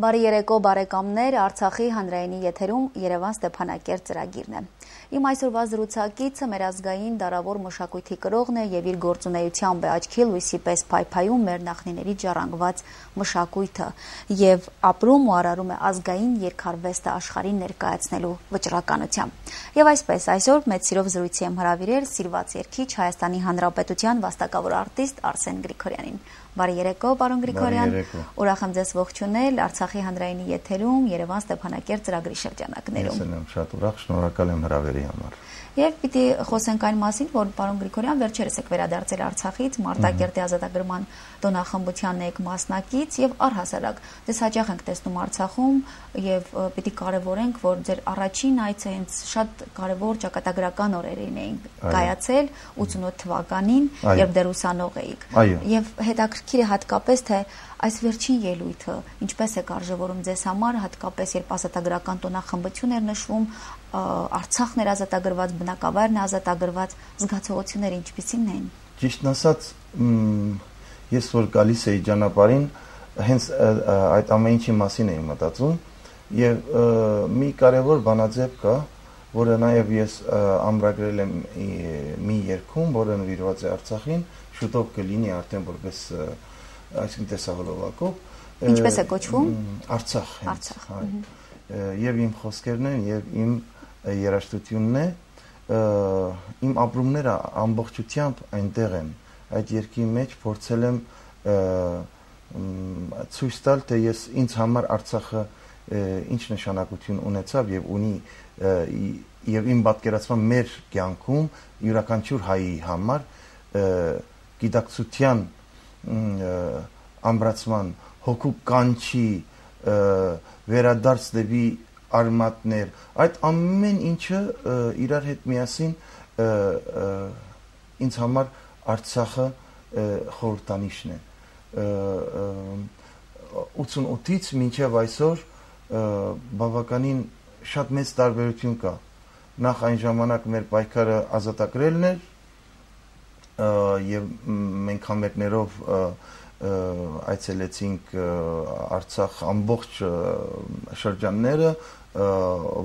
Բարի երեկո բարեկամներ, Արցախի հանրայինի եթերում Երևան Ստեփանակերտ ծրագիրն է։ Իմ այսօրվա զրուցակիցը մեր ազգային դարավոր մշակույթի կրողն է եւ իր գործունեությամբ է աչքի լույսի պես փայփայում մեր նախնիների ժառանգված մշակույթը եւ ապրում ու արարում է ազգային երկարվեստը աշխարհին ներկայացնելու վճռականությամբ։ Եվ այսպես այսօր մեծ սիրով զրույցի եմ հրավիրել սիրված երգիչ Հայաստանի Հանրապետության վաստակավոր արտիստ Արսեն Գրիգորյանին։ Բարի երեկո, պարոն Գրիգորյան, ուրախ եմ ձեզ ողջունել Արցախի հանրայինի եթերում Երևան Ստեփանակերտ ծրագրի շրջանակներում։ Ես եմ շատ ուրախ, շնորհակալ եմ հրավերի համար։ Եվ պիտի խոսենք այն մասին, որ պարոն Գրիգորյան վերջերս եք վերադարձել Արցախից, Մարտակերտի ազատագրման տոնախմբությանն եք մասնակից եւ առհասարակ դες հաճախ ենք տեսնում Արցախում եւ պիտի կարեւորենք, որ ձեր առաջին այցը հենց շատ կարեւոր ճակատագրական օրերին էին կայացել 88 թվականին, երբ դեռ ուսանող էիք։ Եվ հետաքրքիր է հատկապես թե այս վերջին ելույթը ինչպես է կարժևորում ձեզ համար, հատկապես երբ ազատագրական տոնախմբություն էր նշվում, Արցախն էր ազատագրված, բնակավայրն է ազատագրված, զգացողությունները ինչպիսին են։ Ճիշտն ասած, ես որ գալիս էի ճանապարհին, հենց այդ ամեն ինչի մասին էի մտածում եւ մի կարեւոր բանաձև կա, որը նաեւ ես ամրագրել եմ մի երգում, որը նվիրված է Արցախին, շուտով կլինի արդեն որպես այսինքն տեսահոլովակով։ Ինչպես է կոչվում։ Արցախ։ Եվ իմ խոսքերն են եւ իմ երաժշտությունն է, իմ ապրումները ամբողջությամբ այնտեղ են։ Այդ երկի մեջ փորձել եմ ցույց տալ, թե ես ինձ համար Արցախը ինչ նշանակություն ունեցավ եւ ունի եւ իմ պատկերացման մեր կյանքում յուրաքանչյուր հայի համար գիտակցության ամրացման հոգու կանչի վերադարձ դեպի արմատներ, այդ ամեն ինչը իրար հետ միասին ինձ համար Արցախը խորհրդանիշն է։ 88-ից մինչև այսօր բավականին շատ մեծ տարբերություն կա։ Նախ այն ժամանակ մեր պայքարը ազատագրելն էր եւ մենք համերգներով այցելեցինք Արցախ ամբողջ շրջանները,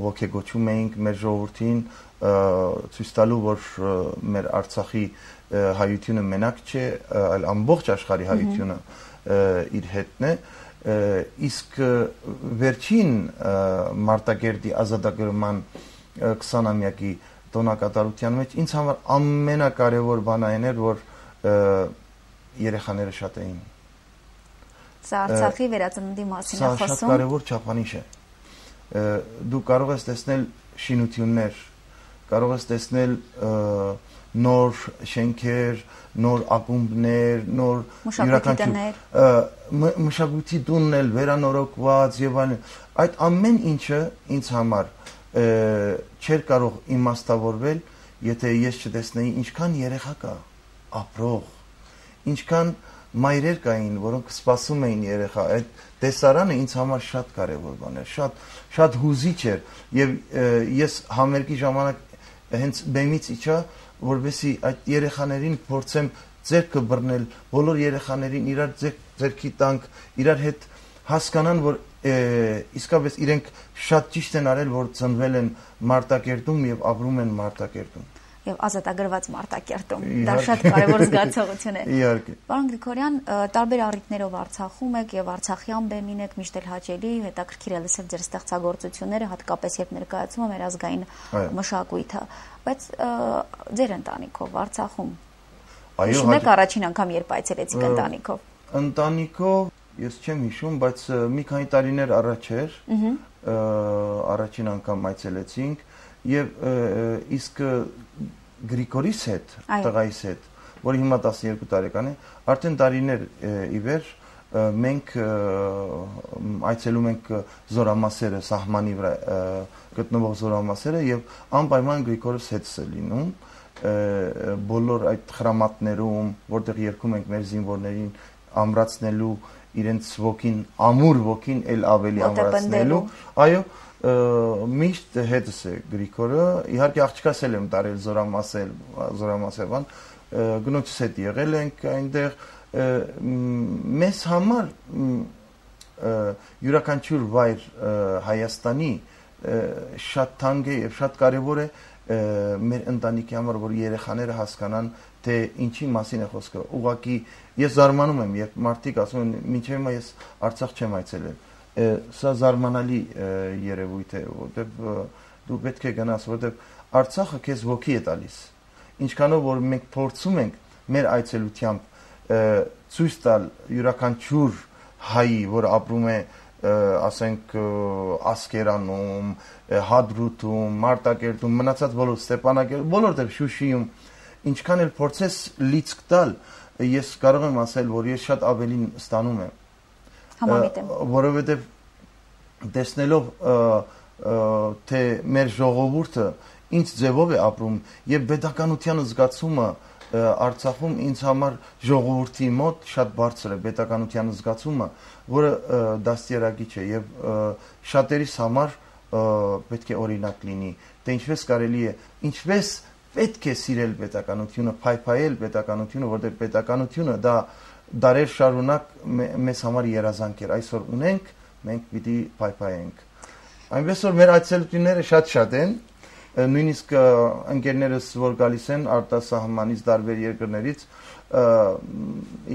ոգեգոչում էինք մեր ժողովրդին, ցույց տալու, որ մեր Արցախի հայությունը մենակ չէ, այլ ամբողջ աշխարհի հայությունը իր հետն է, իսկ վերջին Մարտակերտի ազատագրման 20-ամյակի տոնակատարության մեջ ինձ համար ամենակարևոր բանը այն էր, որ երեխաները շատ էին։ Սա Արցախի վերածննդի մասին է խոսում։ Սա շատ կարևոր չափանիշ է։ Դու կարող ես տեսնել շինություններ, կարող ես տեսնել նոր շենքեր, նոր ակումբներ, նոր մշակույթի տունն էլ վերանորոգված եւ այլն։ Այդ ամեն ինչը ինձ համար չէր կարող իմաստավորվել, եթե ես չտեսնեի ինչքան երեխա կա ապրող, ինչքան մայրեր կային, որոնք սպասում էին երեխա։ Այդ տեսարանը ինձ համար շատ կարևոր բան էր, շատ հուզիչ էր եւ ես համերգի ժամանակ հենց բեմից իջա, որովհետեւ այդ երեխաներին փորձեմ ձեռքը բռնել, բոլոր երեխաներին իրար ձեռքի տանք, իրար հետ հասկանան, որ իսկապես իրենք շատ ճիշտ են արել, որ ծնվել են Մարտակերտում եւ ապրում են Մարտակերտում։ Եվ ազատագրված Մարտակերտում։ Դա շատ կարևոր զգացողություն է։ Իհարկե։ Պարոն Գրիգորյան, տարբեր առիթներով Արցախում եք եւ Արցախյան բեմին եք, միշտ էլ հաճելի, հետաքրքիր է լսել ձեր ստեղծագործությունները, հատկապես երբ ներկայացում է մեր ազգային մշակույթը, բայց ձեր ընտանիքով Արցախում։ Հիշում եք առաջին անգամ երբ այցելեցիք ընտանիքով։ Ընտանիքով ես չեմ հիշում, բայց մի քանի տարիներ առաջ էր, առաջին անգամ այցելեցինք եւ իսկ Գրիգորիս հետ, տղայիս հետ, որը հիմա 12 տարեկան է, արդեն տարիներ ի վեր մենք այցելում ենք զորամասերը, սահմանի վրա գտնվող զորամասերը եւ անպայման Գրիգորս հետս է լինում բոլոր այդ խրամատներում, որտեղ երգում ենք մեր զինվորներին ամրացնելու իրենց ոգին, ամուր ոգին էլ ավելի ամրացնելու, այո, միշտ հետս է Գրիգորը, իհարկե աղջկաս եմ տարել զորամասերվան, գնոջս հետ եղել ենք այնտեղ, մեզ համար յուրաքանչյուր վայր Հայաստանի շատ թանկ է եւ շատ կարեւոր է մեր ընտանիքի համար, որ երեխաները հասկանան, թե ինչի մասին է խոսքը։ Ուղղակի ես զարմանում եմ, երբ մարդիկ ասում են, մինչև հիմա ես Արցախ չեմ այցելել։ Սա զարմանալի երևույթ է, որտեղ դու պետք է գնաս, որտեղ Արցախը քեզ ոգի է տալիս։ Ինչքանով որ մենք փորձում ենք մեր այցելությամբ ցույց տալ յուրաքանչյուր հայի, որ ապրում է, ասենք, Ասկերանում, Հադրութում, Մարտակերտում, մնացած բոլոր Ստեփանակերտում, բոլորտեղ Շուշիում, ինչքան էլ փորձես լիցք տալ, ես կարող եմ ասել, որ ես շատ ավելին ստանում եմ։ Համամիտ եմ։ Որովհետև տեսնելով թե մեր ժողովուրդը ինչ ձևով է ապրում եւ պետականության զգացումը Արցախում ինձ համար ժողովրդի մոտ շատ բարձր է պետականության զգացումը, որը դաստիարակիչ է եւ շատերիս համար պետք է օրինակ լինի, թե ինչպես կարելի է, ինչպես պետք է սիրել պետականությունը, փայփայել պետականությունը, որտեղ պետականությունը դա դարեր շարունակ մեզ համար երազանք էր, այսօր ունենք, մենք պիտի փայփայենք։ Այնպես որ մեր այցելությունները շատ են, նույնիսկ ընկերներս, որ գալիս են արտասահմանից տարբեր երկրներից,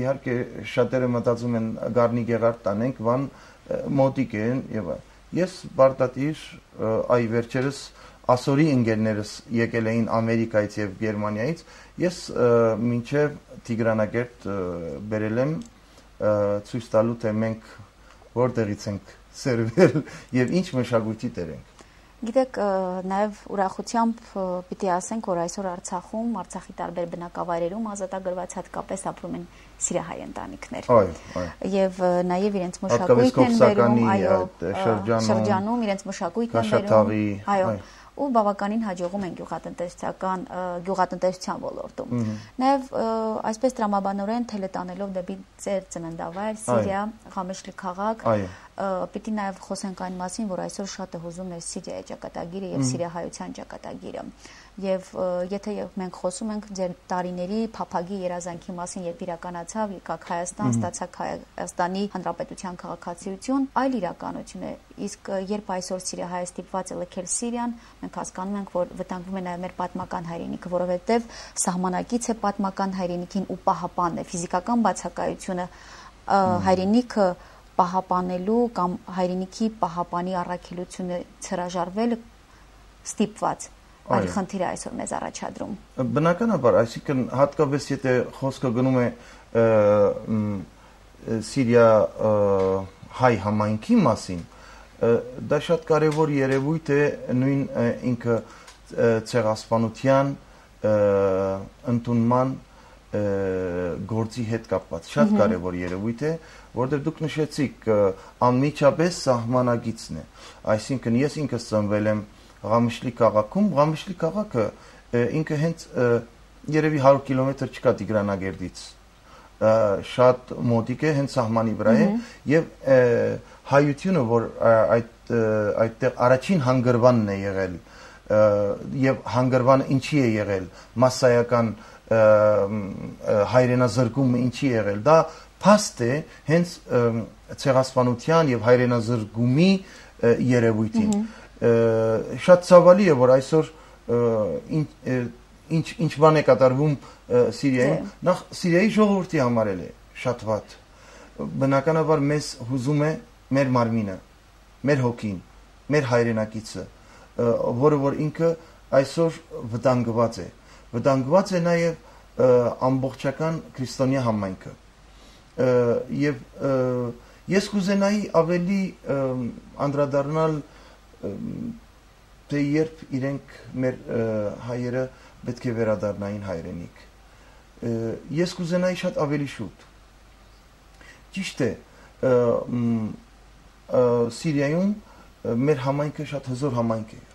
իհարկե շատերը մտածում են Գառնի Գեղարդ տանենք, Վան մոտիկ են եւ ես բարտատիր այ վերջերս ասորի ընկերներս եկել էին Ամերիկայից եւ Գերմանիայից, ես մինչեւ Տիգրանագերտ բերել եմ ցույց տալու թե մենք որտեղից ենք սերվել եւ ինչ մշակույթի տեր ենք։ Գիտեք, նաև ուրախությամբ պիտի ասենք, որ այսօր Արցախում, Արցախի տարբեր բնակավայրերում ազատագրված հատկապես ապրում են սիրահայ ընտանիքներ։ Եվ նաև իրենց մշակույթն են բերում, այո, շրջանում իրենց մշակույթն են բերում, այո, ու բավականին հաջողում են գյուղատնտեսության ոլորտում։ Նաև այսպես տրամաբանորեն թելետանելով դեպի ձեր ծննդավայր Սիրիա, Ղամեշլի քաղաք, պիտի նաև խոսենք այն մասին, որ այսօր շատ է հուզում մեր Սիրիայի ճակատագիրը եւ սիրիահայության ճակատագիրը։ Եվ եթե մենք խոսում ենք ձեր տարիների փափագի երազանքի մասին, երբ իրականացավ, եկաք Հայաստան, ստացաք Հայաստանի Հանրապետության քաղաքացիություն, այլ իրականություն է։ Իսկ երբ այսօր սիրիահայը ստիպված է լքել Սիրիան, մենք հասկանում ենք, որ վտանգվում է նաև մեր պատմական հայրենիքը, որովհետև սահմանակից է պատմական հայրենիքին ու պահապանն է, ֆիզիկական բացակայությունը հայրենիքը պահապանելու կամ հայրենիքի պահապանի առաքելությունը հրաժարվելը ստիպված այլ խնդիր է այսօր մեզ առաջադրում։ Բնականաբար, այսինքն հատկապես եթե խոսքը գնում է Սիրիա հայ համայնքի մասին, դա շատ կարևոր երևույթ է նույն ինքը ցեղասպանության ընդունման գործի հետ կապված շատ կարևոր երևույթ է, որտեղ դուք նշեցիք անմիջապես սահմանագիծն է, այսինքն ես ինքս ծնվել եմ Ղամեշլի քաղաքում, Ղամեշլի քաղաքը ինքը հենց երևի 100 կիլոմետր չկա Տիգրանագերդից, շատ մոտիկ է, հենց սահմանի վրա է եւ հայությունը, որ այդտեղ առաջին հանգրվանն է եղել եւ հանգրվանը ինչի է եղել, մասսայական հայրենազրկումը ինչի է եղել, դա փաստ է հենց ցեղասպանության եւ հայրենազրկումի երևույթին։ Շատ ցավալի է, որ այսօր ինչ բան է կատարվում Սիրիայում, նախ Սիրիայի ժողովրդի համար է շատ վատ։ Բնականաբար մեզ հուզում է մեր մարմինը, մեր հոգին, մեր հայրենակիցը, որը որ ինքը այսօր վտանգված է։ Վտանգված է նաև ամբողջական քրիստոնյա համայնքը։ Եվ ես կուզենայի ավելի անդրադառնալ թե երբ իրենք մեր հայերը պետք է վերադառնային հայրենիք։ Ես կուզենայի շատ ավելի շուտ։ Ճիշտ է, Սիրիայում մեր համայնքը շատ հզոր համայնք է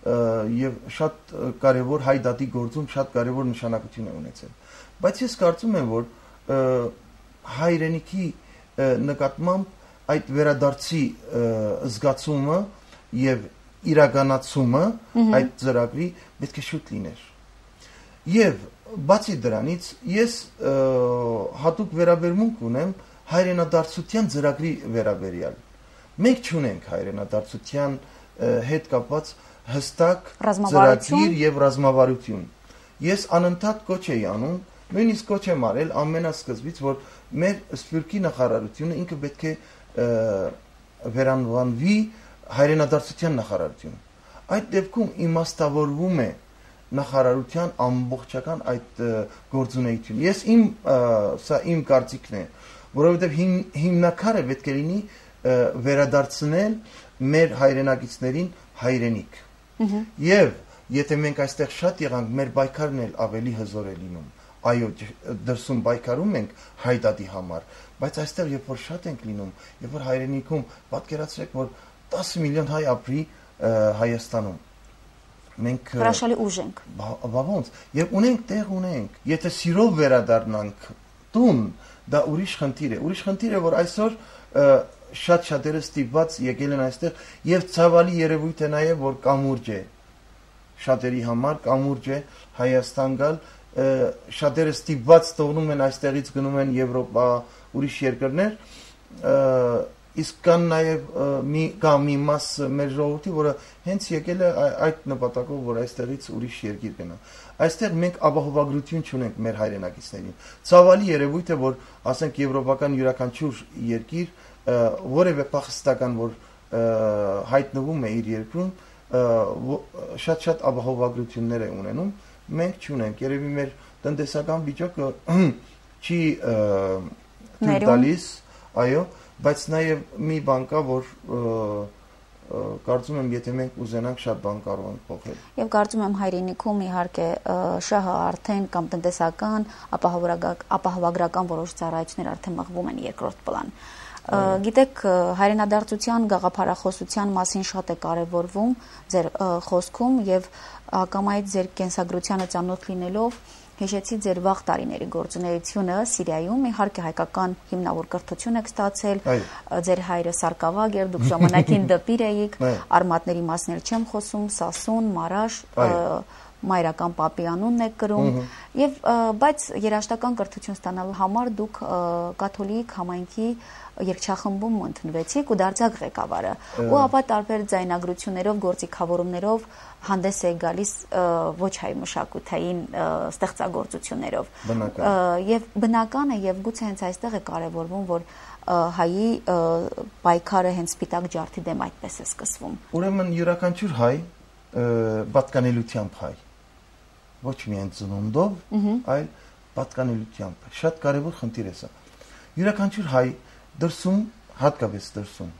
եւ շատ կարեւոր հայ դատի գործում շատ կարեւոր նշանակություն է ունեցել։ Բայց ես կարծում եմ, որ հայրենիքի նկատմամբ այդ վերադարձի զգացումը եւ իրականացումը այդ ծրագրի պետք է շուտ լիներ։ Եվ բացի դրանից ես հատուկ վերաբերմունք ունեմ հայրենադարձության ծրագրի վերաբերյալ։ Մենք չունենք հայրենադարձության հետ կապված հստակ ծրագիր եւ ռազմավարություն։ Ես անընդհատ կոչ էի անում, նույնիսկ կոչ եմ արել ամենասկզբից, որ մեր Սփյուռքի նախարարությունը ինքը պետք է վերանվանվի հայրենադարձության նախարարություն։ Այդ դեպքում իմաստավորվում է նախարարության ամբողջական այդ գործունեությունը։ Սա իմ կարծիքն է, որովհետև հիմնակարը պետք է լինի վերադարձնել մեր հայրենակիցներին հայրենիք։ Եվ եթե մենք այստեղ շատ եղանք, մեր պայքարն էլ ավելի հզոր է լինում։ Այո, դրսում պայքարում ենք հայդատի համար, բայց այստեղ երբ որ շատ ենք լինում, երբ որ հայրենիքում պատկերացրեք, որ 10 միլիոն հայ ապրի Հայաստանում։ Մենք հրաշալի ուժ ենք։ Ոնց, եւ ունենք տեղ ունենք։ Եթե սիրով վերադառնանք տուն, դա ուրիշ խնդիր է։ Ուրիշ խնդիր է, որ այսօր շատ-շատերը ստիպված եկել են այստեղ եւ ցավալի երևույթ է նաեւ, որ կամուրջ է։ Շատերի համար կամուրջ է Հայաստան գալ, շատերը ստիպված թողնում են այստեղից գնում են Եվրոպա, ուրիշ երկրներ, իսկ կան նաև մի մաս մեր ժողովրդի, որը հենց եկել է այդ նպատակով, որ այստեղից ուրիշ երկիր գնա։ Այստեղ մենք ապահովագրություն չունենք մեր հայրենակիցներին։ Ցավալի երևույթ է, որ ասենք եվրոպական յուրաքանչյուր երկիր որևէ փախստական, որ հայտնվում է իր երկրում, շատ ապահովագրություններ է ունենում, մենք չունենք։ Երևի մեր տնտեսական վիճակը չի թույլ տալիս, այո, բայց նաև մի բան կա, որ կարծում եմ, եթե մենք ուզենանք, շատ բան կարող ենք փոխել։ Եվ կարծում եմ հայրենիքում իհարկե շահը արդեն կամ տնտեսական, ապահովագրական որոշ ծառայություններ արդեն մղվում են երկրորդ պլան։ Գիտեք, հայրենադարձության գաղափարախոսության մասին շատ է կարևորվում ձեր խոսքում եւ հակամայից ձեր կենսագրությանը ծանոթ լինելով հիշեցի ձեր վաղ տարիների գործունեությունը Սիրիայում, իհարկե հայկական հիմնավոր կրթություն եք ստացել, ձեր հայրը սարկավագ էր, դուք ժամանակին դպիր էիք, արմատների մասներ չեմ խոսում, Սասուն, Մարաշ, մայրական պապի անունն եք կրում, եւ բայց երաժշտական կրթություն ստանալու համար դուք կաթոլիկ համայնքի երգչախմբում ընդունվեցիք ու դարձաք ղեկավարը, ու ապա տարբեր ձայնագրություններով, գործիքավորումներով հանդես է գալիս ոչ հայ մշակութային ստեղծագործություններով։ Եվ բնական է եւ գուցե հենց այստեղ է կարևորվում, որ հայի պայքարը հենց սպիտակ ջարդի դեմ այդպես է սկսվում։ Ուրեմն յուրաքանչյուր հայ պատկանելությամբ հայ, ոչ միայն ծնունդով, այլ պատկանելությամբ։ Շատ կարևոր խնդիր է սա։ Յուրաքանչյուր հայ դրսում, հատկապես դրսում,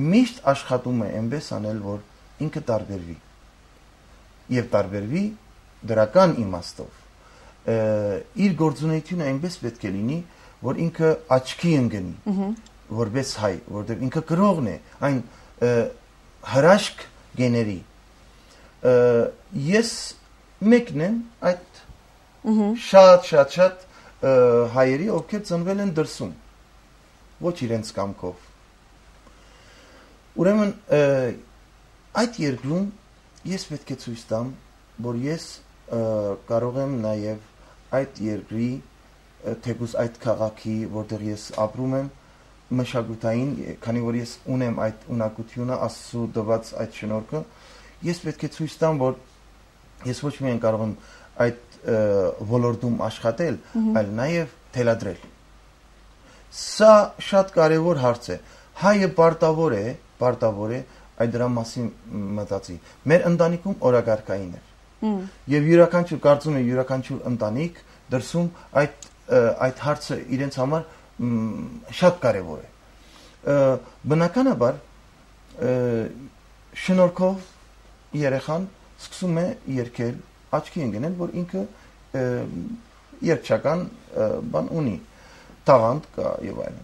միշտ աշխատում է այնպես անել, որ ինքը տարբերվի եւ տարբերվի դրական իմաստով։ Իր գործունեությունը այնպես պետք է լինի, որ ինքը աչքի ընկնի, որպես հայ, որտեղ ինքը գրողն է, այն հրաշք գեների։ Ես մեկն եմ այդ շատ հայերի, ովքեր ծնվել են դրսում, ոչ իրենց կամքով։ Ուրեմն այդ երկրում ես պետք է ցույց տամ, որ ես կարող եմ նաև այդ երկրի, թեկուզ այդ քաղաքի, որտեղ ես ապրում եմ, մշակութային, քանի որ ես ունեմ այդ ունակությունը, Աստծո տված այդ շնորհքը, ես պետք է ցույց տամ, որ ես ոչ միայն կարող եմ այդ ոլորտում աշխատել, այլ նաև թելադրել։ Սա շատ կարևոր հարց է։ Հայը պարտավոր է այդ դրա մասին մտածի։ Մեր ընտանիքում օրագարկային էր։ Եվ յուրաքանչյուր, կարծում եմ, յուրաքանչյուր ընտանիք դրսում այդ հարցը իրենց համար շատ կարևոր է։ Բնականաբար շնորհքով երեխան սկսում է երգել, աչքի ընկնել, որ ինքը երգչական բան ունի, տաղանդ կա եւ այլն։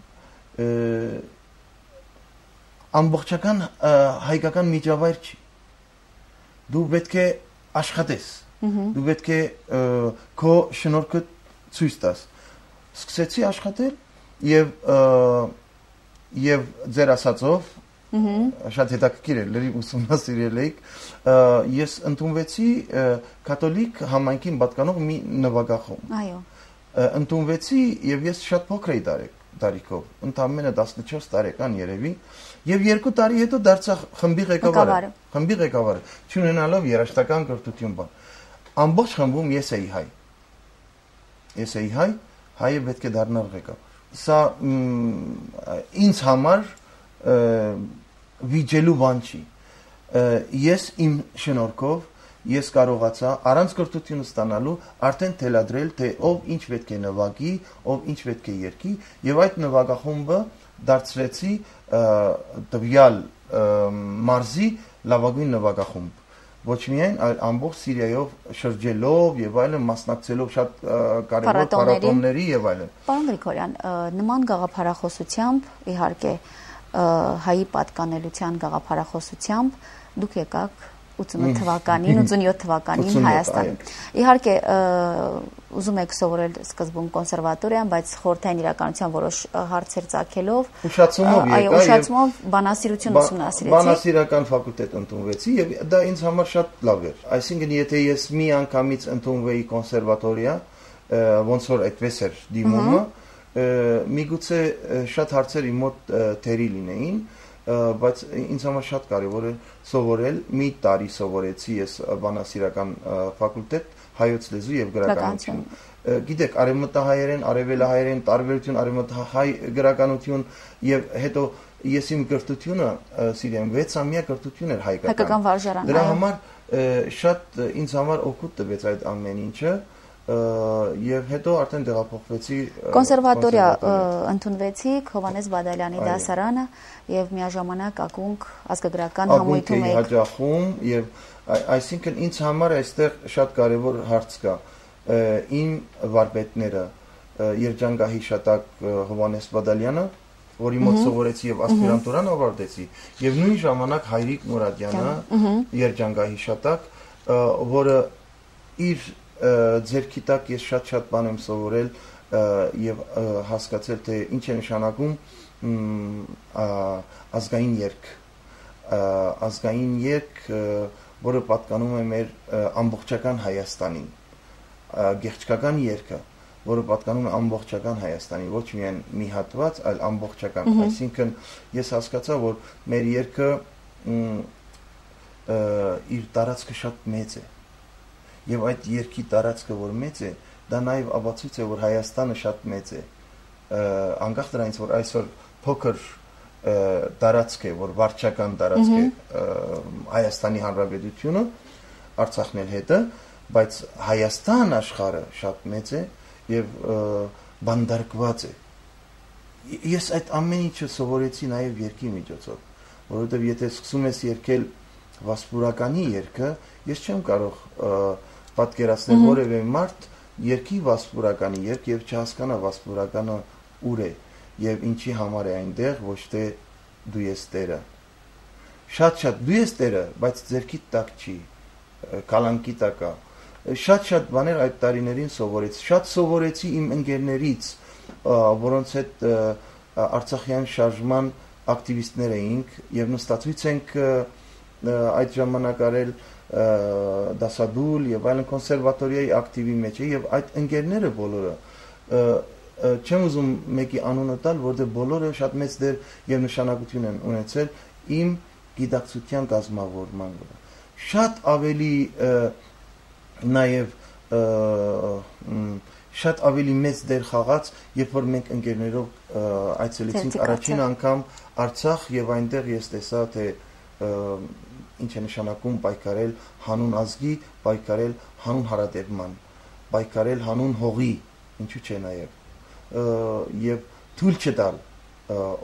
Ամբողջական հայկական միջավայր չի։ Դու պետք է աշխատես, դու պետք է քո շնորհքը ցույց տաս։ Սկսեցի աշխատել եւ ձեր ասածով շատ հետաքրքիր է, լրիվ ուսումնասիրել եք, ես ընդունվեցի կաթոլիկ համայնքին պատկանող մի նվագախումբ։ Այո։ Ընդունվեցի եւ ես շատ փոքր էի տարիքով, ընդամենը 14 տարեկան երևի, եւ 2 տարի հետո դարձա խմբի ղեկավարը, չունենալով երաժշտական կրթություն բան։ Ամբողջ խմբում ես էի հայ, հայը պետք է դառնար ղեկավար։ Սա ինձ համար վիճելու բան չի։ Ես իմ շնորհքով ես կարողացա առանց կրթություն ստանալու արդեն թելադրել, թե ով ինչ պետք է նվագի, ով ինչ պետք է երգի, եւ այդ նվագախումբը դարձրեցի տվյալ մարզի լավագույն նվագախումբ։ Ոչ միայն, այլ ամբողջ Սիրիայով շրջելով եւ այլն, մասնակցելով շատ կարևոր փառատոների եւ այլն։ Պարոն Գրիգորյան, նման գաղափարախոսությամբ, իհարկե, հայի պատկանելության գաղափարախոսությամբ դուք եկաք 88 թվականին, 87 թվականին Հայաստան։ Իհարկե, ուզում եք սովորել սկզբում կոնսերվատորիան, բայց խորհրդային իրականության որոշ հարցեր ծագելով, ուշացումով բանասիրություն ուսումնասիրեցի։ Բանասիրական ֆակուլտետ ընդունվեցի եւ դա ինձ համար շատ լավ էր։ Այսինքն, եթե ես մի անգամից ընդունվեի կոնսերվատորիա, ոնց որ այդպես էր դիմումը, միգուցե շատ հարցեր իմ մոտ թերի լինեին, բայց ինձ համար շատ կարևոր է սովորել, մի տարի սովորեցի ես բանասիրական ֆակուլտետ, հայոց լեզու եւ գրականություն։ Գիտեք, արևմտահայերեն, արևելահայերեն տարբերություն, արևմտահայ գրականություն եւ հետո ես իմ կրթությունը Սիրիայում 6 ամյա կրթություն էր հայկական վարժարան։ Դրա համար շատ ինձ համար օգուտ տվեց այդ ամեն ինչը եւ հետո արդեն տեղափոխվեցի կոնսերվատորիա ընդունվեցիք Հովհաննես Բադալյանի դասարանը եւ միաժամանակ ակունք ազգագրական համույթում եք հաջախում եւ այսինքն ինձ համար այստեղ շատ կարեւոր հարց կա իմ վարպետները երջանկահիշատակ Հովհաննես Բադալյանը որի մոտ սովորեցի եւ ասպիրանտուրան ավարտեցի եւ նույն ժամանակ Հայրիկ Մուրադյանը երջանկահիշատակ որը իր ձերքի տակ ես շատ բան եմ սովորել եւ հասկացել թե ինչ է նշանակում ազգային երգ, որը պատկանում է մեր ամբողջական Հայաստանին, գեղեցկական երգը, որը պատկանում է ամբողջական Հայաստանին, ոչ միայն մի հատված, այլ ամբողջական, այսինքն ես հասկացա, որ մեր երգը իր տարածքը շատ մեծ է եւ այդ երկի տարածքը որ մեծ է, դա նաեւ ապացույց է որ Հայաստանը շատ մեծ է։ Անկախ դրանից որ այսօր փոքր տարածք է, որ վարչական տարածք է Հայաստանի Հանրապետությունը, Արցախն էլ հետը, բայց Հայաստան աշխարհը շատ մեծ է եւ բանդարկված է։ Ես այդ ամեն ինչը սովորեցի նաեւ երկի միջոցով, որովհետեւ եթե սկսում ես երգել վասպուրականի երգը, ես չեմ կարող պատկերացնել որևէ մարդ երկի վասպուրականի երգ եւ չհասկանա վասպուրականը ուր է եւ ինչի համար է այնտեղ, ոչ թե դու ես տերը։ Շատ դու ես տերը, բայց ձերքի տակ չի, կալանկի տակ է։ Շատ բաներ այդ տարիներին սովորեցի։ Շատ սովորեցի իմ ընկերներից, որոնց հետ Արցախյան շարժման ակտիվիստներ էինք եւ նստածույց ենք այդ ժամանակ արել դասադուլ եւ այլն կոնսերվատորիայի ակտիվի մեջ է եւ այդ ընկերները բոլորը չեմ ուզում մեկի անունը տալ, որտեղ բոլորը շատ մեծ դեր եւ նշանակություն են ունեցել իմ գիտակցության կազմավորման վրա։ Շատ ավելի նաեւ շատ ավելի մեծ դեր խաղաց, երբ որ մենք ընկերներով այցելեցինք առաջին անգամ Արցախ եւ այնտեղ ես տեսա թե ինչ է նշանակում պայքարել հանուն ազգի, պայքարել հանուն հարատևման, պայքարել հանուն հողի, ինչու՞ չէ նաեւ եւ թույլ չտալ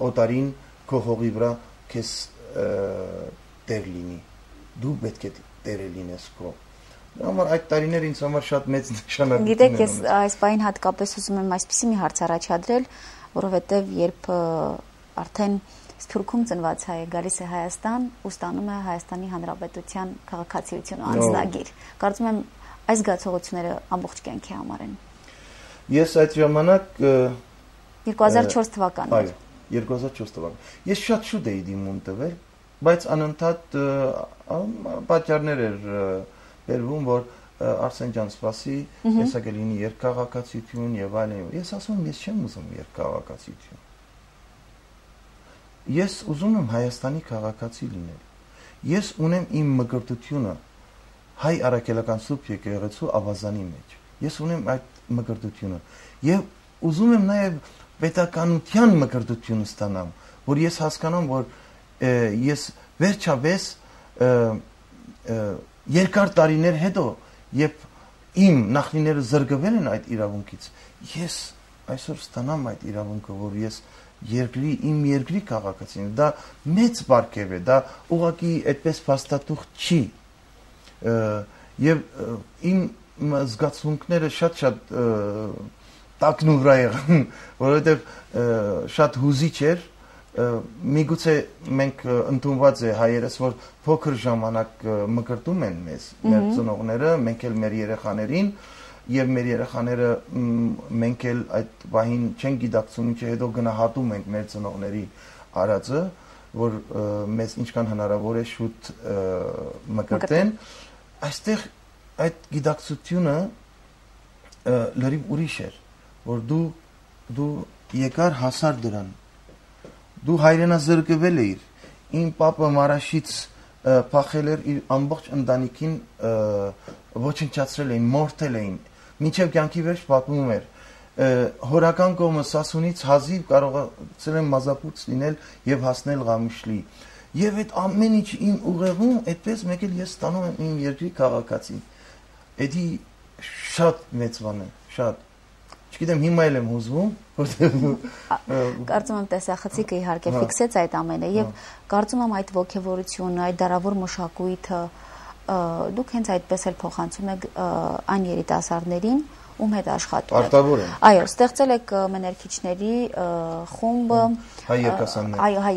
օտարին քո հողի վրա քեզ տեր լինի։ Դու պետք է տերը լինես քո։ Համար այդ տարիները ինձ համար շատ մեծ նշանակություն ունեն։ Գիտեք, ես այս բանին հատկապես ուզում եմ այսպիսի մի հարց առաջադրել, որովհետեւ երբ արդեն Սփյուռքում ծնված հայը գալիս է Հայաստան ու ստանում է Հայաստանի Հանրապետության քաղաքացիություն ու անձնագիր։ Կարծում եմ այս զգացողությունները ամբողջ կյանքի համար են։ Ես այդ ժամանակ 2004 թվականն էր։ Այո, 2004 թվական։ Ես շատ շուտ էի դիմում տվել, բայց անընդհատ պատճառներ էր բերվում, որ Արսեն ջան, սպասի, հեսա կլինի երկքաղաքացիություն եւ այլն։ Ես ասում եմ, ես չեմ ուզում երկքաղաքացիություն։ Ես ուզում եմ Հայաստանի քաղաքացի լինել։ Ես ունեմ իմ մկրտությունը հայ առաքելական սուրբ եկեղեցու ավազանի մեջ։ Ես ունեմ այդ մկրտությունը եւ ուզում եմ նաեւ պետականության մկրտություն ստանամ, որ ես հասկանամ, որ ես վերջապես երկար տարիներ հետո, երբ իմ նախնիները զրկվել են այդ իրավունքից, ես այսօր ստանամ այդ իրավունքը, որ ես իմ երկրի քաղաքացին, դա մեծ բարգև է, դա ուղղակի այդպես փաստաթուղթ չի։ Եվ իմ զգացմունքները շատ տակն ու վրա եղան, որովհետև շատ հուզիչ էր, միգուցե մենք ընդունված է հայերս, որ փոքր ժամանակ մկրտում են մեզ, մեր ծնողները, մենք էլ մեր երեխաներին, եւ մեր երեխաները մենք էլ այդ բանին չեն գիտակցում, ինչը հետո գնահատում ենք մեր ծնողների արածը, որ մեզ ինչքան հնարավոր է շուտ մկրտեն, այստեղ այդ գիտակցությունը լրիվ ուրիշ էր, որ դու եկար հասար դրան, դու հայրենազրկվել էիր, իմ պապը Մարաշից փախել էր իր ամբողջ ընտանիքին ոչնչացրել էին, մորթել էին, մինչև կյանքի վերջ պատմում էր, հորական կողմը Սասունից հազիվ կարողացել են մազապուրց լինել եւ հասնել Ղամիշլի։ Եվ այդ ամեն ինչ իմ ուղեղում այդպես մեկ էլ ես ստանում եմ իմ երկրի քաղաքացի։ Էդի շատ մեծ բան է, շատ։ Չգիտեմ, հիմա էլ եմ հուզվում, կարծում եմ տեսախցիկը իհարկե ֆիքսեց այդ ամենը եւ կարծում եմ այդ ոգևորությունը, այդ դարավոր մշակույթը դուք հենց այդպես էլ փոխանցում եք այն երիտասարդներին, ում հետ աշխատում եք։ Արտավոր են։ Այո, ստեղծել եք մեներքիչների խումբը, հայ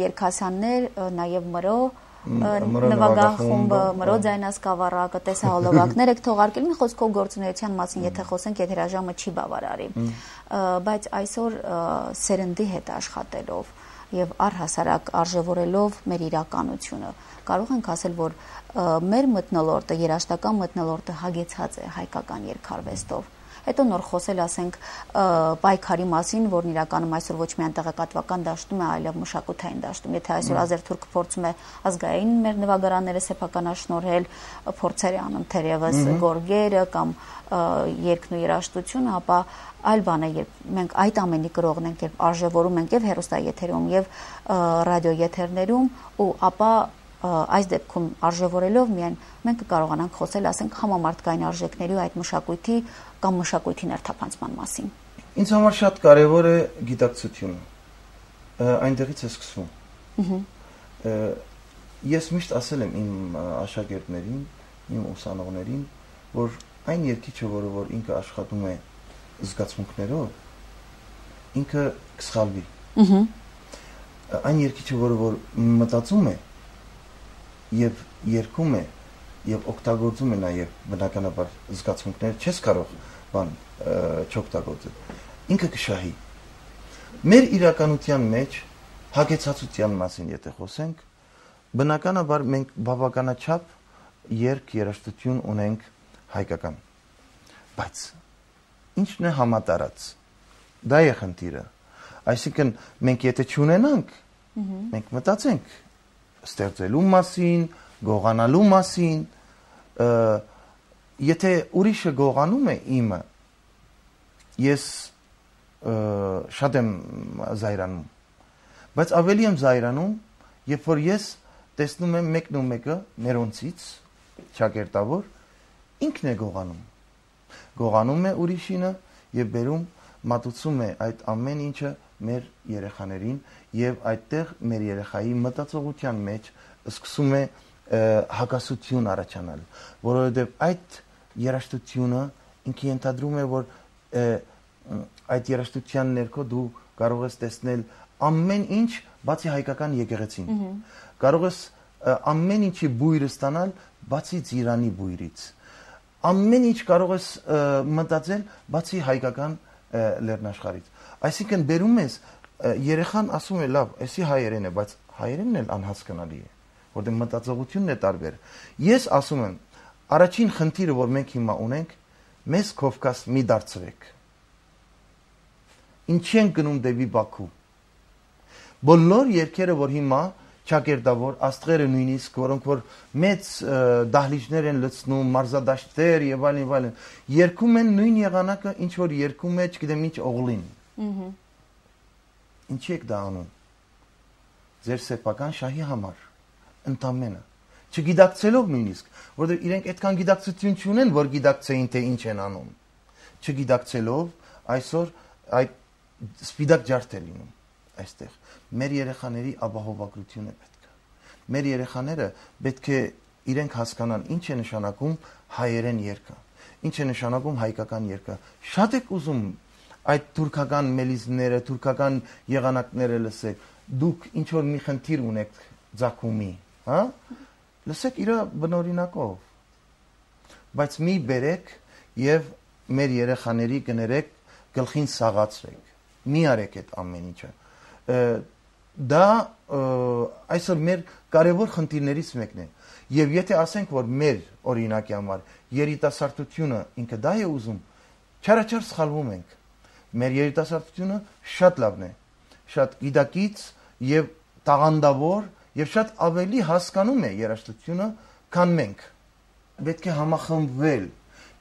երգասաններ, նաեւ Մրո նվագախումբը, Մրո ձայնասկավառակը, տեսահոլովակներ եք թողարկել, մի խոսքով գործունեության մասին, եթե խոսենք, եթե հրաժամը չի բավարարի, բայց այսօր սերնդի հետ աշխատելով եւ առհասարակ արժևորելով մեր իրականությունը, կարող ենք ասել, որ մեր մթնոլորտը, երաժշտական մթնոլորտը հագեցած է հայկական երգարվեստով։ Հետո նոր խոսել, ասենք, պայքարի մասին, որն իրականում այսօր ոչ միայն տեղեկատվական դաշտում է, այլև մշակութային դաշտում։ Եթե այսօր Ազերթուրքը փորձում է ազգային մեր նվագարանները սեփականաշնորհել, փորձեր է անում թերևս գորգերը կամ երգն ու երաժշտությունը, ապա այլ բան է, երբ մենք այդ ամենի կրողն ենք, երբ արժևորում ենք եւ հեռուստաեթերում եւ ռադիոեթերներում, ու ապա այս դեպքում արժևորելով միայն մենք կկարողանանք խոսել, ասենք, համամարտկային արժեքների ու այդ մշակույթի կամ մշակույթի ներթափանցման մասին։ Ինձ համար շատ կարևոր է գիտակցությունը։ Այնտեղից է սկսվում։ Ես միշտ ասել եմ իմ աշակերտներին, իմ ուսանողներին, որ այն երգիչը, որ ինքը աշխատում է զգացմունքներով, ինքը կսխալվի։ Այն երգիչը, որ մտածում է եւ երգում է եւ օգտագործում է նաեւ բնականաբար զգացմունքներ, չես կարող բան չօգտագործել, ինքը կշահի։ Մեր իրականության մեջ հագեցածության մասին եթե խոսենք, բնականաբար մենք բավականաչափ երգ-երաժշտություն ունենք հայկական, բայց ինչն է համատարած, դա է խնդիրը, այսինքն մենք եթե չունենանք, մենք մտածենք ստեղծելու մասին, գողանալու մասին, եթե ուրիշը գողանում է իմը, ես շատ եմ զայրանում, բայց ավելի եմ զայրանում, երբ որ ես տեսնում եմ մեկն ու մեկը մերոնցից, շակերտավոր, ինքն է գողանում է ուրիշինը եւ բերում մատուցում է այդ ամեն ինչը մեր երեխաներին եւ այդտեղ մեր երեխայի մտածողության մեջ սկսում է հակասություն առաջանալ, որովհետեւ այդ երաժշտությունը ինքը ենթադրում է, որ այդ երաժշտության ներքո դու կարող ես տեսնել ամեն ինչ, բացի հայկական եկեղեցին։ Կարող ես ամեն ինչի բույրը ստանալ, բացի Ծիրանի բույրից։ Ամեն ինչ կարող ես մտածել, բացի հայկական լեռնաշխարհից։ Այսինքն բերում ես երեխան ասում է լավ, էսի հայերեն է, բայց հայերենն էլ անհասկանալի է, որտեղ մտածողությունն է տարբեր։ Ես ասում եմ, Առաջին խնդիրը, որ մենք հիմա ունենք, մեզ Կովկաս մի դարձրեք։ Ինչի ենք գնում դեպի Բաքու։ Բոլոր երկերը, որ հիմա ճակերտավոր աստղերը նույնիսկ, որոնք որ մեծ դահլիճներ են լցնում, մարզադաշտեր եւ այլն, երգում են նույն եղանակը, ինչ որ երգում է, չգիտեմ ինչ օղլին։ Ինչի եք դա անում։ Ձեր սեփական շահի համար, ընդամենը, չգիտակցելով նույնիսկ, որովհետեւ իրենք այդքան գիտակցություն չունեն, որ գիտակցեին թե ինչ են անում։ Չգիտակցելով այսօր այդ սպիտակ ջարդ է լինում այստեղ։ Մեր երեխաների ապահովագրություն է պետք։ Մեր երեխաները պետք է իրենք հասկանան ինչ է նշանակում հայերեն երգը, ինչ է նշանակում հայկական երգը։ Շատ եք ուզում այդ թուրքական մելիզները, թուրքական եղանակները լսեք։ Դուք ինչ որ մի խնդիր ունեք ձակումի, հա? Լսեք իր բնօրինակով։ Բայց մի բերեք եւ մեր երեխաների կներեք գլխին սաղացրեք։ Մի արեք այդ ամեն ինչը։ Դա այսօր մեր կարևոր խնդիրներից մեկն է։ Եվ եթե ասենք, որ մեր օրինակի համար երիտասարդությունը ինքը դա է ուզում, չարաչար սխալվում ենք։ Մեր երիտասարդությունը շատ լավն է, շատ գիտակից եւ տաղանդավոր եւ շատ ավելի հասկանում է երաժշտությունը, քան մենք։ Պետք է համախմբվել,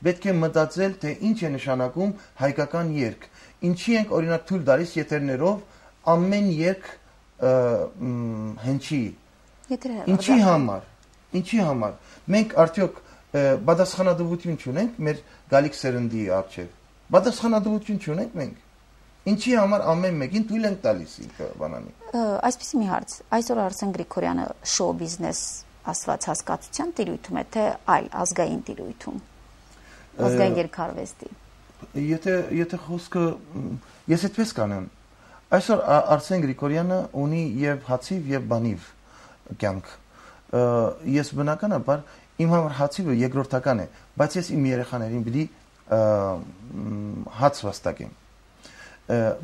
պետք է մտածել, թե ինչ է նշանակում հայկական երգ։ Ինչի ենք օրինակ թույլ տալիս եթերներով ամեն երգ հնչի։ Ինչի համար։ Մենք արդյոք պատասխանատվություն չունենք մեր գալիք սերնդի առջև։ Պատասխանատվություն չունենք մենք։ Ինչի համար ամեն մեկին թույլ ենք տալիս ինքը բանանի։ Այսպեսի մի հարց։ Այսօր Արսեն Գրիգորյանը շոու բիզնես ասված հասկացության տիրույթում է, թե այլ ազգային տիրույթում։ Ազգային երգարվեստի։ Եթե խոսքը ես այդպես կանեմ, այսօր Արսեն Գրիգորյանը ունի եւ հացիվ եւ բանիվ կյանք։ Ես բնականաբար իմ համար հացիվը երկրորդական է, բայց ես իմ երեխաներին պիտի հաց վաստակեմ։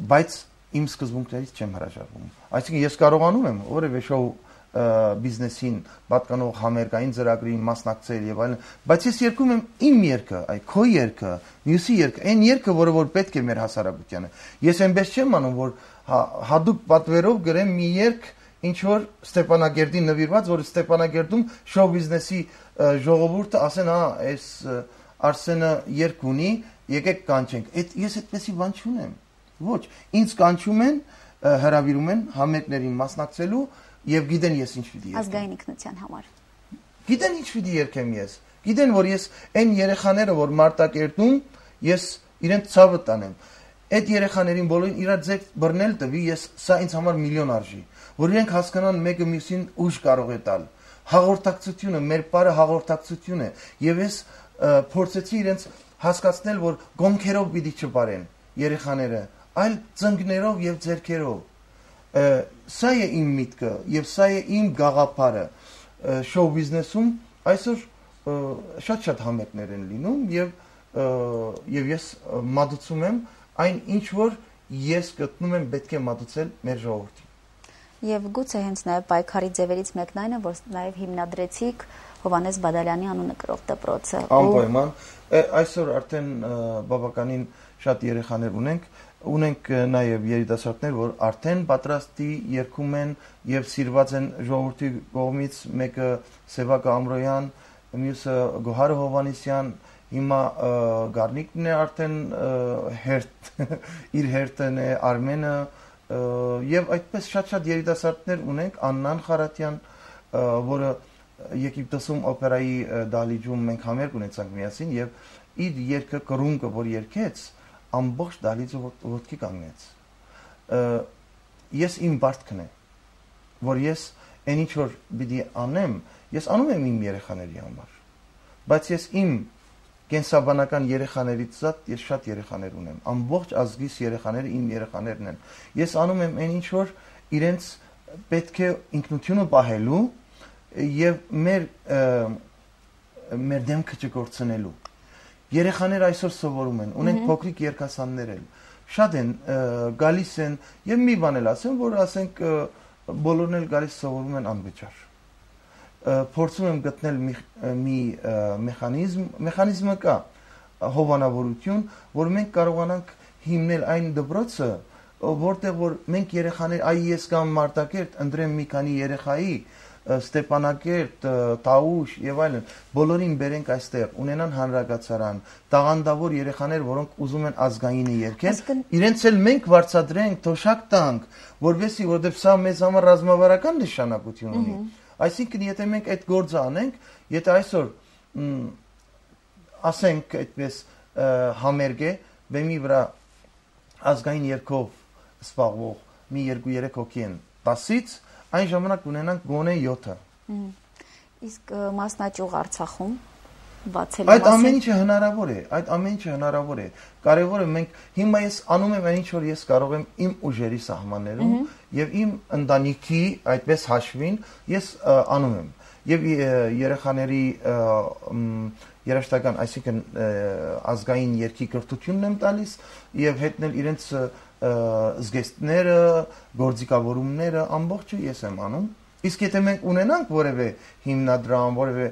Բայց իմ սկզբունքներից չեմ հրաժարվում։ Այսինքն ես կարողանում եմ որևէ շոու բիզնեսին պատկանող համերգային ծրագրին մասնակցել եւ այլն, բայց ես երգում եմ իմ երգը, այ քո երգը, մյուսի երգը, այն երգը, որը որ պետք է մեր հասարակությանը։ Ես այնպես չեմ անում, որ հadoop պատվերով գրեմ մի երգ, ինչ որ Ստեփանագերդին նվիրված, որ Ստեփանագերդում շոու բիզնեսի ժողովուրդը ասեն, հա, այս Արսենը երգ ունի, եկեք կանչենք։ Ես այդպեսի բան չունեմ։ Ոչ, ինձ կանչում են, հրավիրում են համերգներին մասնակցելու եւ գիտեն ես ինչ պիտի երգեմ։ Ազգային ինքնության համար։ Գիտեն ինչ պիտի երգեմ ես։ Գիտեն, որ ես այն երեխաները, որ Մարտակերտում, ես իրենց ցավը տանեմ։ Այդ երեխաներին բոլորին իրար ձեկ բռնել տվի, ես սա ինձ համար միլիոն արժի, որ իրենք հասկանան մեկը մյուսին ուժ կարող է տալ։ Հաղորդակցությունը, մեր բարը հաղորդակցություն է, եւ ես փորձեցի իրենց հասկացնել, որ գոնքերով պիտի չբարեն երեխաները, այլ ծնկներով եւ ձեռքերով։ Սա է իմ միտքը եւ սա է իմ գաղափարը շոու բիզնեսում այսօր շատ համերգներ են լինում եւ ես մատուցում եմ այն ինչ որ ես գտնում եմ պետք է մատուցել մեր ժողովրդին։ Եվ գուցե հենց նաեւ պայքարի ձևերից մեկն այն է, որ նաեւ հիմնադրեցիք Հովանես Բադալյանի անունը կրող դպրոցը։ Անպայման, այսօր արդեն բավականին շատ երեխաներ ունենք նաև երիտասարդներ, որ արդեն պատրաստի երգում են եւ սիրված են ժողովրդի կողմից, մեկը Սևակա Ամրոյան, մյուսը Գոհար Հովանեսյան, հիմա Գառնիկն է արդեն իր հերթն է, Արմենը եւ այդպես շատ երիտասարդներ ունենք, Աննան Խարատյան, որը Եգիպտոսում օպերայի դահլիճում մենք համերգ ունեցանք միասին եւ իր երգը կռունկը, որ երգեց, ամբողջ դահլիճը ոտքի կանգնեց։ Ես իմ բարդքն է, որ ես այն ինչ որ պիտի անեմ, ես անում եմ իմ երեխաների համար։ Բայց ես իմ կենսաբանական երեխաներից զատ ես շատ երեխաներ ունեմ։ Ամբողջ ազգիս երեխաները իմ երեխաներն են։ Ես անում եմ այն ինչ որ իրենց պետք է ինքնությունը պահելու եւ մեր դեմքը չկորցնելու։ Երեխաները այսօր սովորում են, ունենք փոքրիկ երգասաններ էլ։ Շատ են գալիս են եւ մի բան էլ ասեմ, որ ասենք բոլորն էլ գալիս սովորում են անվճար։ փորձում եմ գտնել մի մեխանիզմը կա, հովանավորություն, որ մենք կարողանանք հիմնել այն դպրոցը, որտեղ որ մենք երեխաներ, ես կամ Մարտակերտ ընտրեմ մի քանի երեխայի, Ստեփանակերտ, Տաուշ եւ այլն, բոլորին բերենք այստեղ, ունենան հանրակացարան, տաղանդավոր երեխաներ, որոնք ուզում են ազգայինը երգեն, իրենց էլ մենք վարձատրենք, թոշակ տանք, որովհետեւ սա մեզ համար ռազմավարական նշանակություն ունի։ Այսինքն, եթե մենք այդ գործը անենք, եթե այսօր ասենք այդպես համերգ է, բեմի վրա ազգային երգով սպառվող մի 2-3 հոգի են 10-ից, այն ժամանակ ունենանք գոնե 7-ը։ Իսկ մասնաճյուղ Արցախում բացելու մասին։ Այդ ամեն ինչը հնարավոր է, Կարևորը մենք հիմա ես անում եմ այն ինչ որ ես կարող եմ իմ ուժերի սահմաններում եւ իմ ընտանիքի այդպես հաշվին ես անում եմ։ Եվ երեխաների երաշտական, այսինքն ազգային երգի կրթությունն եմ տալիս եւ հետնել իրենց զգեստները, գործիքավորումները ամբողջը ես եմ անում։ Իսկ եթե մենք ունենանք որևէ հիմնադրամ, որևէ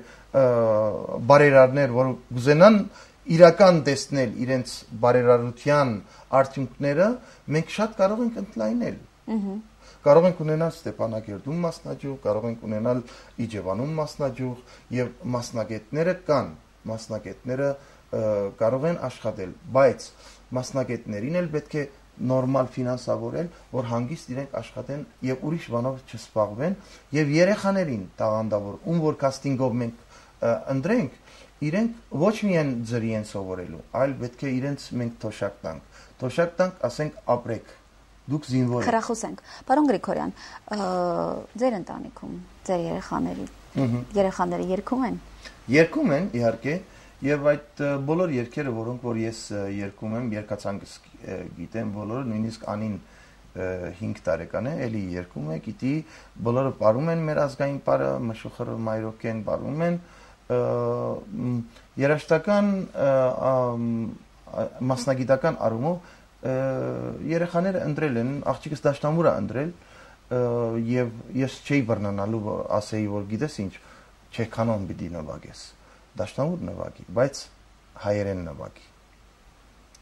բարերարներ, որ կուզենան իրական տեսնել իրենց բարերարության արդյունքները, մենք շատ կարող ենք ընդլայնել։ Կարող ենք ունենալ Ստեփանակերտում մասնաճյուղ, կարող ենք ունենալ Իջևանում մասնաճյուղ եւ մասնագետները կան, մասնագետները կարող են աշխատել, բայց մասնագետներին էլ պետք է նորմալ ֆինանսավորել, որ հանգիստ իրենք աշխատեն եւ ուրիշ բանով չսպառվեն եւ երեխաներին տաղանդավոր, ում որ կաստինգով մենք ընտրենք, իրենք ոչ միայն ձրի են սովորելու, այլ պետք է իրենց մենք թոշակ տանք, ասենք ապրեք, դուք զինվոր եք։ Խրախուսենք։ Պարոն Գրիգորյան, ձեր ընտանիքում, ձեր երեխաները երգում են։ Երգում են, իհարկե, եւ այդ բոլոր երգերը, որոնք որ ես երգում եմ, երգացանկս գիտեմ բոլորը, նույնիսկ Անին 5 տարեկան է, էլի երգում է, գիտի, բոլորը ապարում են մեր ազգային պարը, մշուխը մայրոկեն ապարում են, երաշտական մասնագիտական առումով երեխաները ընտրել են, աղջիկս դաշնամուր է ընտրել եւ ես չէի բռնանալու ասեի որ գիտես ինչ չեքանոն պիտի նվագես դաշնամուր նվագի բայց հայերեն նվագի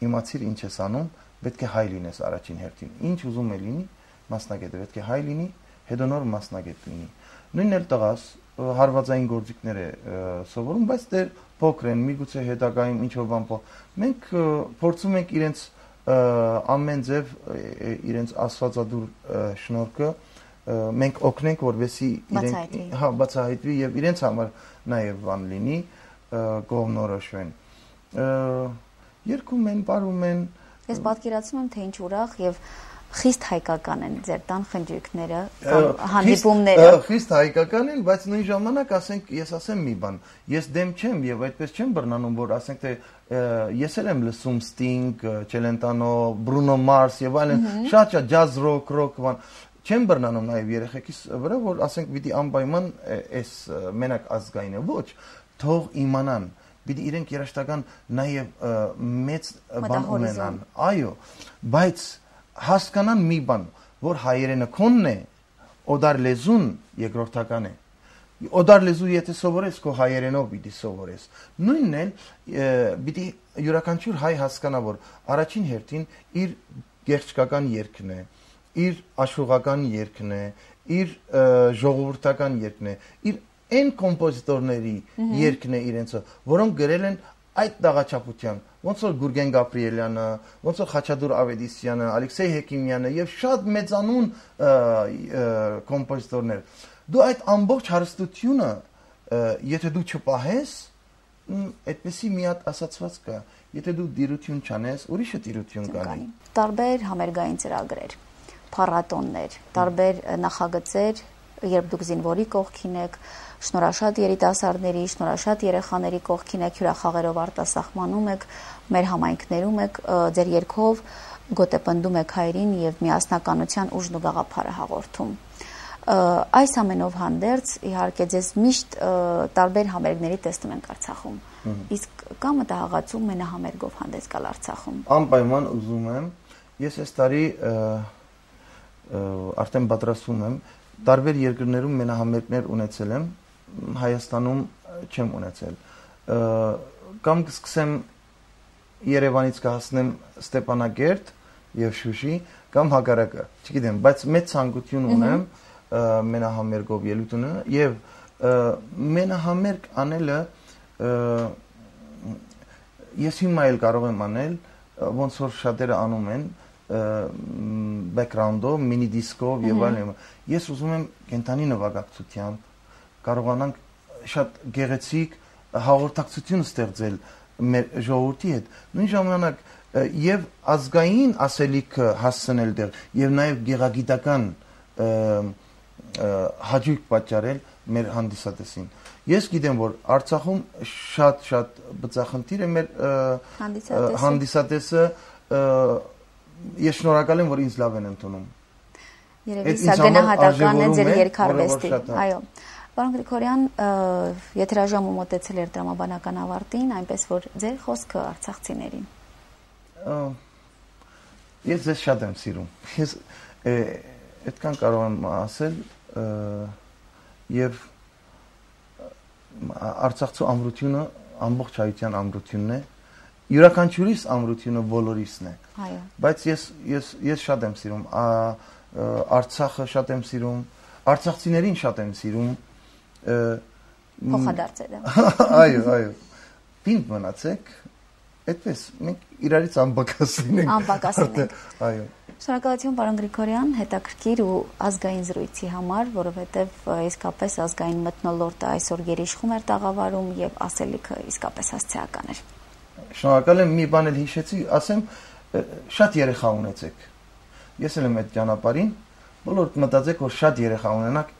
իմացիր ինչ ես անում պետք է հայ լինես առաջին հերթին ինչ ուզում է լինի մասնագետը պետք է հայ լինի հետո նոր մասնագետ լինի նույնն էլ տղաս հարվածային գործիքներ է սովորում բայց դեռ փոքր են միգուցե հետագայում ինչ որ բան մենք փորձում ենք իրենց ամեն ձև իրենց աստվածադուր շնորհքը մենք օգնենք որովհետեւ իրենք բացահայտվի եւ իրենց համար նաեւ բան լինի կողմնորոշվեն երկում են բարում են ես պատկերացնում եմ թե ինչ ուրախ եւ խիստ հայկական են ձեր տան խնջույքները կամ հանդիպումները խիստ հայկական են բայց նույն ժամանակ ասենք ես ասեմ մի բան ես դեմ չեմ եւ այդպես չեմ բռնանում որ ասենք թե ես էլ եմ լսում Sting, Celentano, Bruno Mars եւ այլն շատ ջազ ռոք բան չեմ բռնանում նաեւ երեխեքիս վրա որ ասենք պիտի անպայման այս մենակ ազգայինը ոչ թող իմանան պիտի իրենք երաշտական նաեւ մեծ բան ունենան այո բայց հասկանան մի բան որ հայերենը քոնն է օդար լեզուն երկրորդական է օդար լեզու եթե սովորես քո հայերենով պիտի սովորես նույնն էլ պիտի յուրաքանչյուր հայ հասկանա որ առաջին հերթին իր գեղեցկական երգն է իր աշխուղական երգն է իր ժողովրդական երգն է իր այն կոմպոզիտորների երգն է իրենցը որոնք գրել են այդ դաղաչափության ոնց որ Գուրգեն Գաբրիելյանը, ոնց որ Խաչատուր Ավետիսյանը, Ալեքսեյ Հեկիմյանը եւ շատ մեծանուն կոմպոզիտորներ դու այդ ամբողջ հարստությունը եթե դու չպահես այդպեսի մի հատ ասացված կա եթե դու դիրություն չանես ուրիշը դիրություն կանի տարբեր համերգային ծրագրեր փառատոններ տարբեր նախագծեր երբ դուք զինվորի կողքին եք շնորհաշատ երիտասարդների, շնորհաշատ երեխաների կողքին եք հյուրախաղերով արտասահմանում եք, մեր համայնքներում եք, ձեր երգով գոտեպնդում եք հայրին եւ միասնականության ուժն ու գաղափարը հաղորդում։ Այս ամենով հանդերձ իհարկե ձեզ միշտ տարբեր համերգների տեսնում ենք Արցախում։ Իսկ կա մտահղացում մենահամերգով հանդես գալ Արցախում։ Անպայման ուզում եմ, ես այս տարի արդեն պատրաստվում եմ տարբեր երկրներում մենահամերգներ ունեցել եմ Հայաստանում չեմ ունեցել։ Կամ կսկսեմ Երևանից կհասնեմ Ստեփանագերտ եւ Շուշի, կամ հակառակը, չգիտեմ, բայց մեծ ցանկություն ունեմ մենահամերգով ելույթ ունենալ եւ մենահամերգ անելը ես հիմա էլ կարող եմ անել, ոնց որ շատերը անում են background-ով, mini disc-ով եւ այլն։ Ես ուզում եմ կենթանի նվագակցությամբ կարողանանք շատ գեղեցիկ հաղորդակցություն ստեղծել մեր ժողովրդի հետ։ Նույն ժամանակ եւ ազգային ասելիքը հասցնել դեր եւ նաեւ գեղագիտական հաջող պատճառել մեր հանդիսատեսին։ Ես գիտեմ, որ Արցախում շատ բծախնդիր է մեր հանդիսատեսը, ես շնորհակալ եմ, որ ինձ լավ են ընդունում։ Երևի սա գնահատական է ձեր երկարվեստի։ Այո։ Պարոն Գրիգորյան, եթերաժամը մոտեցել էր տրամաբանական ավարտին, այնպես որ ձեր խոսքը արցախցիներին։ Ես ձեզ շատ եմ սիրում։ Ես այդքան կարող եմ ասել եւ Արցախցու ամրությունը ամբողջ հայության ամրությունն է։ Յուրաքանչյուրիս ամրությունը բոլորիսն է։ Այո։ Բայց ես շատ եմ սիրում Արցախը, շատ եմ սիրում արցախցիներին, շատ եմ սիրում փոխադարձել։ Այո։ Պինդ մնացեք, այդպես մենք իրարից անպակասին ենք։ Այո։ Շնորհակալություն պարոն Գրիգորյան, հետաքրքիր ու ազգային զրույցի համար, որովհետև իսկապես ազգային մթնոլորտը այսօր գերիշխում էր տաղավարում եւ ասելիքը իսկապես հասցեական էր։ Շնորհակալ եմ, մի բան էլ հիշեցի, ասեմ, շատ երեխա ունեցեք։ Ես էլ եմ այդ ճանապարհին, բոլորդ մտածեք, որ շատ երեխա ունենաք,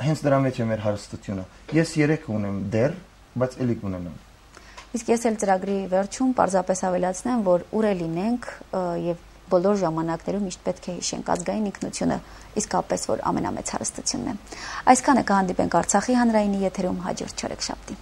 հենց դրա մեջ է մեր հարստությունը։ Ես 3 ունեմ դեռ, բայց էլի կունենամ։ Իսկ ես էլ ծրագրի վերջում պարզապես ավելացնեմ, որ ուր է լինենք եւ բոլոր ժամանակներում միշտ պետք է հիշենք ազգային ինքնությունը իսկապես որ ամենամեծ հարստությունն է։ Այսքանը կհանդիպենք Արցախի հանրայինի եթերում հաջորդ չորեքշաբթի։